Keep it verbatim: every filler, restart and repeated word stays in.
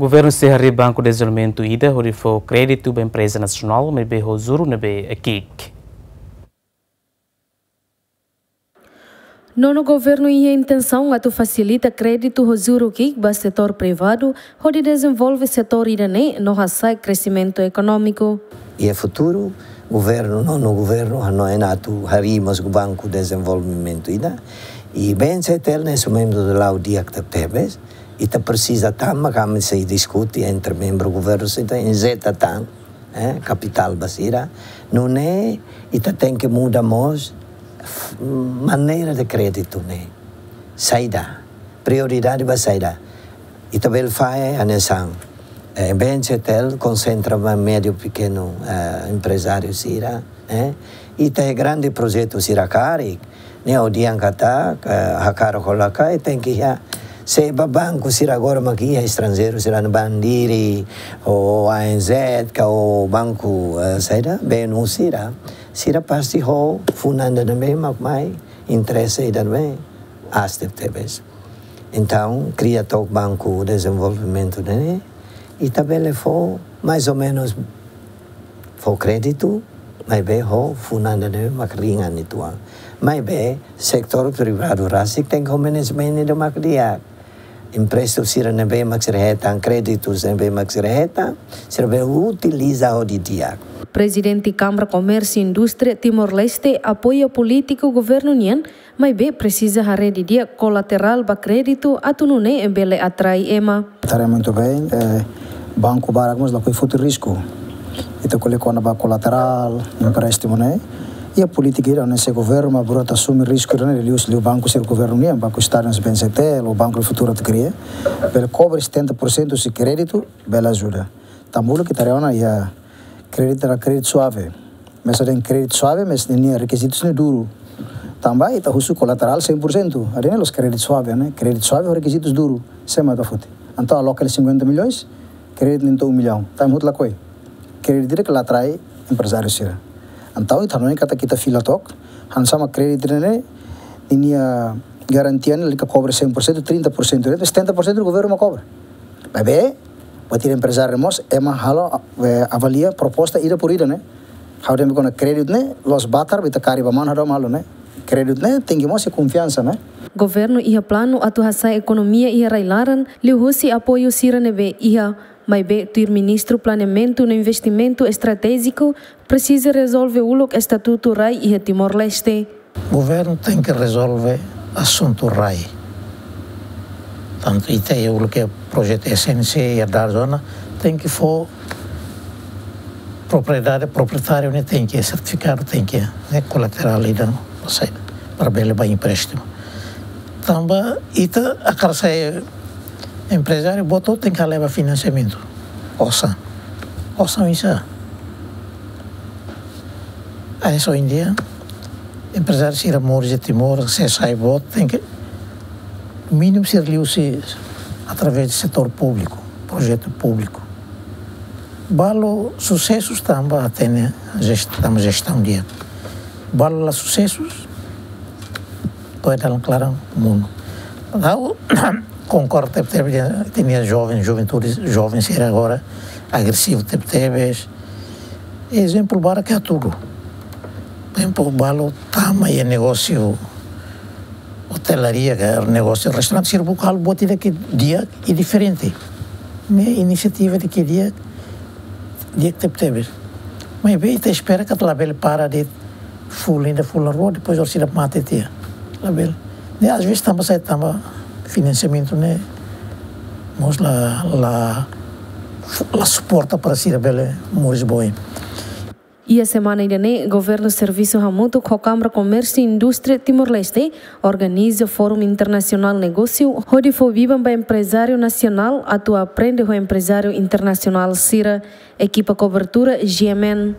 Governu sei harii Banku Dezenvolvimentu ida hodi fó kréditu ba empreza nasionál, maibé ho juru ne'ebé ki'ik. Nonu governu iha intensaun atu fasilita kréditu ho juru ki'ik ba setór privadu, hodi dezenvolve setór ida-ne'e no hasa'e kresimentu ekonómiku. Iha futuru, governu, nonu governu, hanoin atu harii mós Banku Dezenvolvimentu ida. I B N C T L ne'e sei membru de lau di'ak tebes. Ita presiza tama, kami sei diskute entre membru governu, sei ita injeta tan, eh, kapitál ba sira. Nune'e, ita tenke muda mós f-, maneira de kréditu ne'e. Saida, prioridade ba saida. Ita bele fahe hanesan, eh, B N C T L konsentra ba médiu pequeno, eh, emprezáriu sira, eh. Ita iha grande projetu sira karik, ne'e ha'u dehan katak, eh, hakarak ka lae, tenke iha. Se ba banku sira agora mak iha estranjeiru sira, Banco do Estado, ou A N Z, ka ou banku, eh, saida, B N U sira, sira pasti ho funan ida ne'ebé mak mai interese ida ne'ebé aas tebes. Entaun, kria took Banku Dezenvolvimentu ne'e, ita bele fó, mais ou menus, fó kréditu, maibé ho funan ida ne'ebé mak ringan uitoan. Maibé, setór privadu rasik tenke ho manajemen ida mak di'ak. Empréstimu sira ne'ebé mak sira hetan, kréditu ne'ebé mak sira hetan, sira bele utiliza ho di'ak. Prezidente Kámara Komérsiu Indústria Timor-Leste apoia polítika governu nian, maibé presiza haree didi'ak kolaterál ba kréditu atu nune'e bele atrai ema. Haree muito bem, eh, banku barak mós lakohi foti risku. Ita ko'alia kona-ba kolaterál, empréstimu ne'e. Iha polítika ida ne'e se governu mak buat asume risku ne'e, liuliu banku sira governu nian, Banku Estadu, B N C T L, ou Banku do Futuro atu kria. Bele kobre setenta por cento husi kréditu, bele ajuda. Tanba uluk ita haree ona iha kréditu, iha kréditu suave. Maibé dehan kréditu suave, maibé ninia rekizitus ne'e duru. Tanba ita husu kolaterál cem por cento. Haree ne'e la'ós kréditu suave, ne'e? Kréditu suave ho rekizitus duru. Sé mak atu foti. Entaun aloka cinquenta milhões, kréditu ne'e to'o um milhão. Tanba hotu lakohi. Kréditu ida ke la atrai emprezáriu sira. Entaun ita hanoin katak ita fila took, hanesan mak kréditu ne'e, ninia garantia ne'e lalika kobre cem por cento, trinta por cento, setenta por cento governu mak kobre. Maibé, buat ida emprezáriu mós, ema halo, eh, avalia proposta ida por ida, ne'e? Ha'u dehan kona-ba kréditu ne'e, la'ós batar, ita kaer ba manu hadomi halo, ne'e? Kréditu ne'e, tenke mós iha konfiansa, ne'e? Governu iha planu atu hasa'e ekonomia iha rai-laran, liuhusi apoiu sira ne'ebé iha, maibé tuir Ministru Planeamentu no Investimentu Estratéjiku, presiza rezolve uluk estatutu rai iha Timor-Leste. Governu tenke rezolve asuntu rai. Tantu ita iha uluk projetu S N C, iha dala zona, tenke fó propriedade, proprietáriu ne'e tenke, sertifikadu tenke, ne'e kolaterál ida, ou seja, para bele ba empréstimu. Tanba ita hakarak sai emprezáriu, buat hotu tenke leva finansiamentu. Osan. Osan bisa. Aí só em dia, emprezáriu sira moris iha Timor, se sai boot, tenke mínimu sira liuhusi através de setór públiku, projetu públiku. Balu susesu tanba hatene jest-, tanba jestaun di'ak. Balu la susesu, to'o dalan klaran monu. Ha'u konkorda tebetebes, ita-nia joven, juventude, joven sira agora agresivu tebetebes. Ezemplu barak hatudu. Ezemplu balu tama iha negósiu otelaria, ka negósiu restaurante, sira buka halo buat ida ke di'ak i diferente. Ne'e inisiativa ida ke di'ak, di'ak tebetebes. Maibé ita espera katak labele para de'it fulan ida, fulan rua, depois orsida mate tiha. Labele. Ne'e às vezes tanba sai tanba finansiamentu ne'e mós la, la, la suporta para sira bele moris boot. Iha semana ida-ne'e, Governu servisu hamutuk ho Kámara Komérsiu Indústria Timor-Leste organiza Fórum Internasionál Negósiu, hodi fó biban ba emprezáriu nasionál atu aprende ho emprezáriu internasionál sira. Ekipa kobertura G M N.